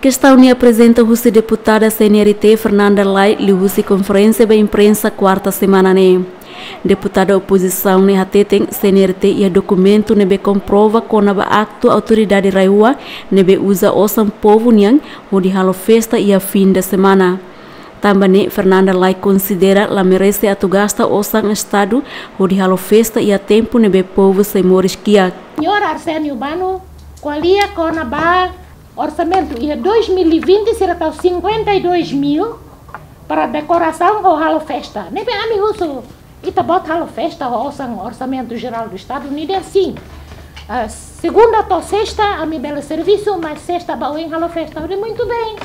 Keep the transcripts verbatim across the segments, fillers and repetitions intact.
Kestaun ne'e aprezenta husi deputada C N R T Fernanda Lay liuhusi konferénsia ba imprensa kuarta semana ne'e. Deputada opozisaun ne'e hateten C N R T iha dokumentu ne'ebé komprova kona-ba aktu autoridade RAEOA ne'ebé uza osan povu nian hodi halo festa iha fim de semana. Tanba ne'e Fernanda Lay konsidera la merese atu gasta osan estadu hodi halo festa iha tempu ne'ebé povu sei moris kiak. Señór Arsénio Bano ko'alia kona-ba orsamentu iha dois mil e vinte sira tau cinquenta e dois mil para dekorasaun ho halo festa. Ne'ebé ami husu, ita-boot halo festa ho osan Orsamentu Jerál do Estadu, nia dehan sin. Ah, segunda to'o sesta ami bele servisu, mas sesta ba oin halo festa. Ha'u dehan muito bem.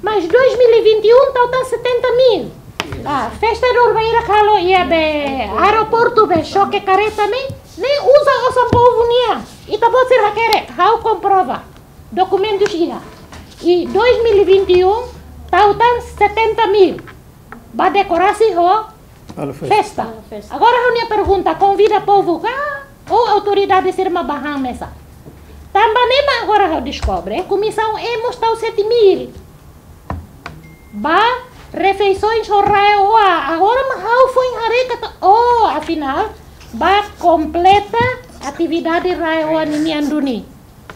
Mas dois mil e vinte e um tau tan setenta mil. Ah, festa dor baira halo iha be aeroportu be xoke kareta ne'e, ne'e uza osan povu nian. Ita-boot sira hakerek, ha'u komprova. Dokumentus iha. I dois mil e vinte e um tau tan setenta mil ba dekorasi ho festa. Halo festa. Agora ha'u-nia pergunta, konvida povu ka ou autoridade sira mak ba han mesak? Tanba ne'e mak agora ha'u deskobre, komisaun E mós tau sete mil ba refeisoens ho RAEOA. Agora mak ha'u foin haree katak, oh, afinál ba kompleta atividade RAEOA ninian duni.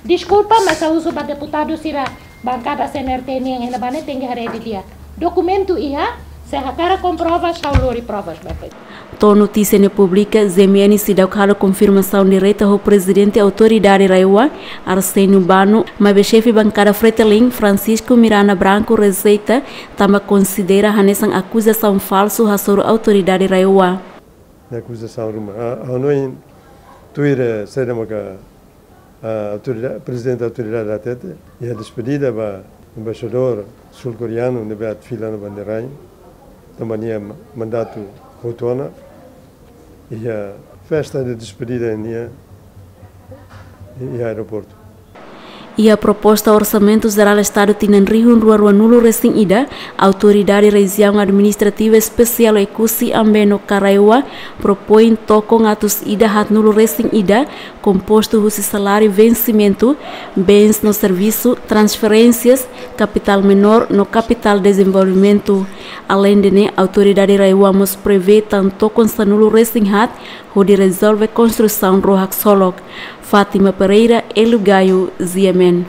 Deskulpa, mas ha'u husu ba deputadu sira bankada C N R T nian iha ne'ebá ne'e tenke haree didi'ak. Dokumentu iha, se hakarak komprova, ha'u lori provas ba foin. To'o notísia ne'e publika, G M N seidauk halo konfirmasaun direta ho prezidente autoridade RAEOA, Arsénio Bano, maibé xefe bankada Fretilin, Francisco Miranda Branco, rejeita, tanba konsidera hanesan akuzasaun falsu hasoru autoridade RAEOA. Ne'e akuzasaun ruma. Ah, ha'u hanoin tuir, eh, saida maka, ah, autoridade, prezidente autoridade hatete, iha despedida ba embaixadór sul-koreanu ne'ebé atu fila ona ba nia rain, tanba nia ma-, mandatu hotu ona, iha festa de despedida nian iha aeroportu. Iha proposta Orsamentu Jerál Estadu tinan rihun rua rua-nulu resin ida, Autoridade Rejiaun Administrativa Espesiál Oekusi Ambeno ka RAEOA propoin tokon atus ida haat-nulu resin ida, kompostu husi saláriu vensimentu, bens no servisu, transferénsias, kapitál menór no kapitál dezenvolvimentu. Aleinde ne'e, Autoridade RAEOA mós prevee tan tokon sanulu resin haat hodi rezolve konstrusaun ró haksolok. Fátima Pereira, Hélio Gaio, G M N.